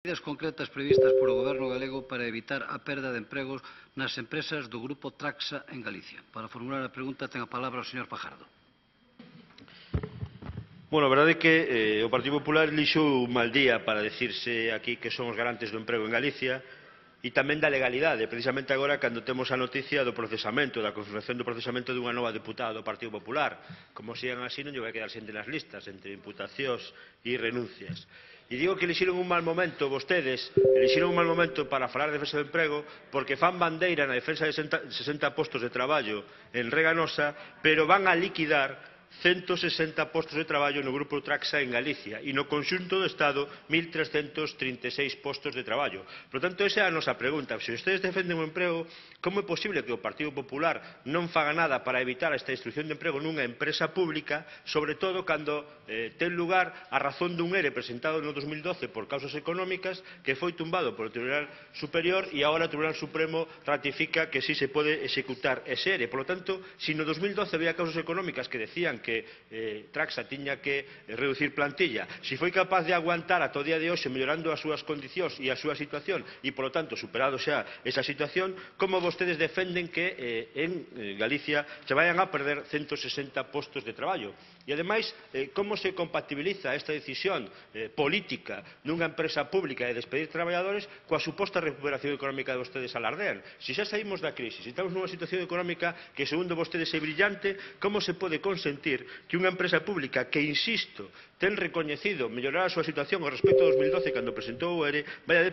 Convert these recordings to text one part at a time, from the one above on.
Medidas concretas previstas polo Goberno galego para evitar a perda de empregos nas empresas do Grupo Traxa en Galicia. Para formular a pregunta ten a palabra o señor Fajardo. Bueno, a verdade é que o Partido Popular elixou un mal día para decirse aquí que son os garantes do emprego en Galicia e tamén da legalidade, precisamente agora cando temos a noticia do procesamento, da confirmación do procesamento dunha nova deputada do Partido Popular. Como sigan así non lle vai quedar xente nas listas, entre imputacións e renuncias. E digo que elixiron un mal momento, vostedes, elixiron un mal momento para falar de defensa do emprego porque fan bandeira na defensa de 60 postos de traballo en Reganosa, pero van a liquidar 160 postos de traballo no Grupo Traxa en Galicia e no conxunto do Estado 1.336 postos de traballo. Por tanto, esa é a nosa pregunta. Se ustedes defenden o emprego, como é posible que o Partido Popular non faga nada para evitar esta destrucción de emprego nunha empresa pública, sobre todo cando ten lugar a razón dun ERE presentado no 2012 por causas económicas que foi tumbado polo Tribunal Superior e agora o Tribunal Supremo ratifica que sí se pode executar ese ERE. Por lo tanto, se no 2012 había causas económicas que decían que Traxa tiña que reducir plantilla, se foi capaz de aguantar ata o día de hoxe mellorando as súas condicións e a súa situación e, polo tanto, superado xa esa situación, como vostedes defenden que en Galicia se vayan a perder 160 postos de traballo? E, ademais, como se compatibiliza esta decisión política dunha empresa pública de despedir traballadores coa suposta recuperación económica de vostedes alardean? Se xa saímos da crise, se estamos nunha situación económica que, segundo vostedes, é brillante, como se pode consentir que unha empresa pública que, insisto, ten recoñecido mellorar a súa situación ao respecto de 2012 cando presentou o ERE, vai a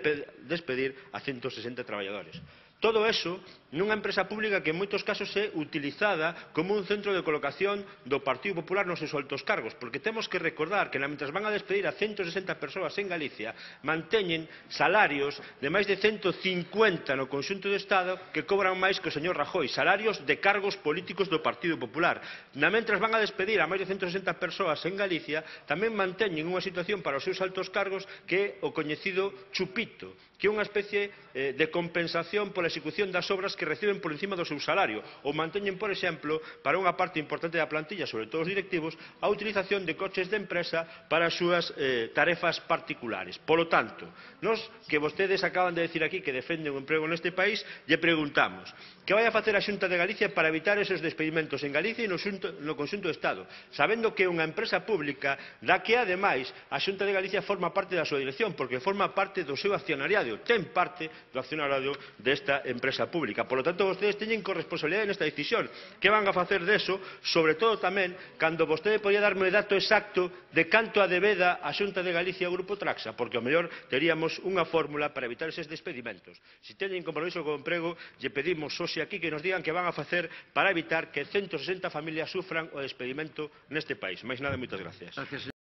despedir a 160 traballadores? Todo eso nunha empresa pública que en moitos casos é utilizada como un centro de colocación do Partido Popular nos seus altos cargos, porque temos que recordar que, mentres van a despedir a 160 persoas en Galicia, manteñen salarios de máis de 150 no conxunto do Estado que cobran máis que o señor Rajoy, salarios de cargos políticos do Partido Popular. Mentres van a despedir a máis de 160 persoas en Galicia, tamén manteñen unha situación para os seus altos cargos que é o coñecido chupito, que é unha especie de compensación pola execución das obras que reciben por encima do seu salario, ou manteñen, por exemplo, para unha parte importante da plantilla, sobre todo os directivos, a utilización de coches de empresa para as súas tarefas particulares. Polo tanto, nos que vostedes acaban de decir aquí que defenden o emprego neste país, lle preguntamos que vai a facer a Xunta de Galicia para evitar esos despedimentos en Galicia e no conxunto do Estado, sabendo que é unha empresa pública da que, ademais, a Xunta de Galicia forma parte da súa dirección, porque forma parte do seu accionariado, ten parte do accionariado desta empresa pública. Por lo tanto, vostedes teñen corresponsabilidade nesta decisión. Que van a facer deso, sobre todo tamén, cando vostede podía darme o dato exacto de canto a debeda a Xunta de Galicia ao Grupo Traxa, porque ao mellor teríamos unha fórmula para evitar eses despedimentos. Se teñen compromiso co emprego, lle pedimos hoxe aquí que nos digan que van a facer para evitar que 160 familias sufran o despedimento neste país. Máis nada, moitas gracias.